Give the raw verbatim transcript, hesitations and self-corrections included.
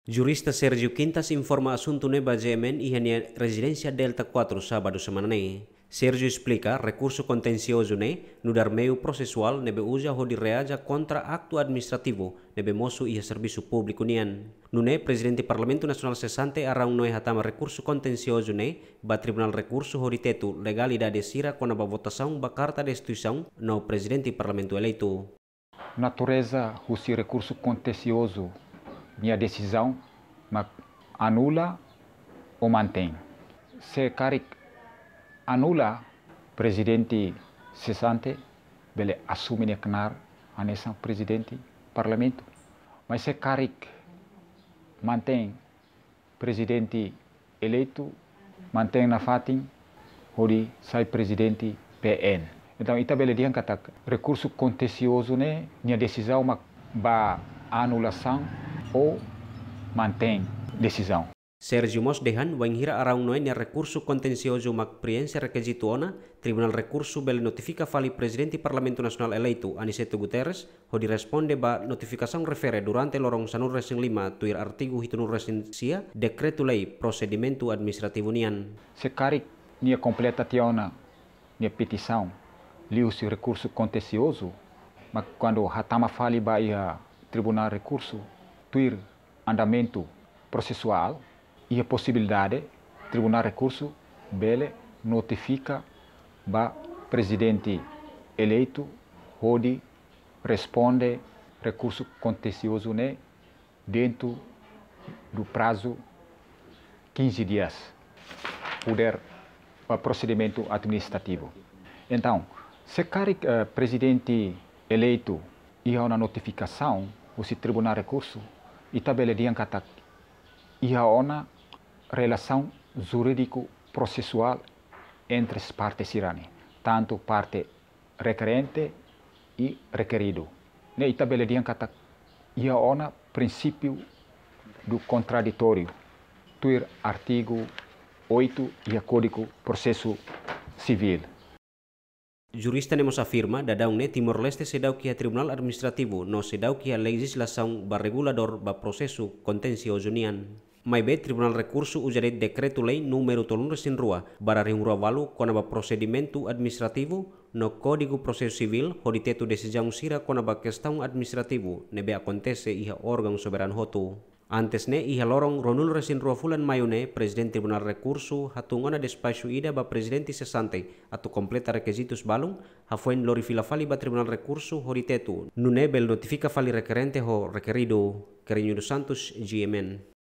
Jurista Sérgio Quintas informa asuntu ne'e ba G M N iha nia rezidénsia Delta quatro, sábadu semana ne'e. Sérgio esplika rekursu kontensiozu ne'e nu'udar meiu prosesuál ne'ebé uza hodi reaji kontra aktu administrativu ne'ebé mosu iha servisu públiku nian. Nune'e Prezidente Parlamentu Nasionál sesante Araun Noé hatama rekursu kontensiozu ne'e ba Tribunál Rekursu hodi tetu legalidade sira kona-ba votasaun ba karta destituisaun no Prezidente Parlamentu eleitu. Natureza husi rekursu kontensiozu nia desizaun mak anula ou mantein. Se karik anula, Prezidente sesante bele asume nia knaar hanesan Prezidente Parlamentu. Mas se karik mantein, Prezidente eleitu mantein nafatin hodi sai Prezidente P N. Entaun, ita bele dehan katak rekursu kontensiozu ne'e nia desizaun mak ba anulasaun ou mantein desizaun. Sérgio mós dehan, wainhira Araun Noé nia rekursu kontensiozu mak prienxe rekizitu ona, Tribunál Rekursu bele notifika fali Prezidente Parlamentu Nasionál eleitu, Aniceto Guterres, hodi responde ba notifikasaun refere durante loron sanulu-resin-lima tuir artigu hitunulu-resin-sia Dekretu-Lei Prosedimentu Administrativu nian. Se karik nia kompleta tiha ona nia petisaun liuhusi rekursu kontensiozu, mak kuandu hatama fali ba iha Tribunál Rekursu, tuir andamentu prosesuál, iha posibilidade Tribunál Rekursu bele notifika ba Prezidente eleitu hodi responde rekursu kontensiozu ne'e dentro do prazo quinze dias, poder ba prosedimentu administrativu. Entaun, se karik, eh, Prezidente eleitu iha ona notifikasaun husi Tribunál Rekursu, ita bele dehan katak iha ona relasaun jurídiku prosesuál entre parte sira-ne'e, tantu parte rekerente i rekeridu. Ne'e ita bele dehan katak iha ona prinsípiu do kontraditóriu, tuir artigu oito iha Kódigu Prosesu Sivíl. Jurista ne'e mós afirma, daudaun ne'e Timor-Leste seidauk iha tribunál administrativu no seidauk iha lejizlasaun ba reguladór ba prosesu kontensiozu nian. Maibé Tribunál Rekursu uza de'it Dekretu-Lei númeru tolunulu-resin-rua barra rihun rua walu kona-ba prosedimentu administrativu no Kódigu Prosesu Sivíl hodi tetu desizaun sira kona-ba kestaun administrativu ne'ebé akontese iha órgaun soberanu hotu. Antes ne'e, iha loron ruanulu-resin-rua fulan Maiu ne'e, Prezidente Tribunál Rekursu hatun ona despaxu ida ba prezidente sesante atu kompleta rekizitus balun, hafoin lori fila fali ba Tribunál Rekursu hodi tetu, nune'e bele notifika fali rekerente ho rekeridu. Querinho dos Santos, G M N.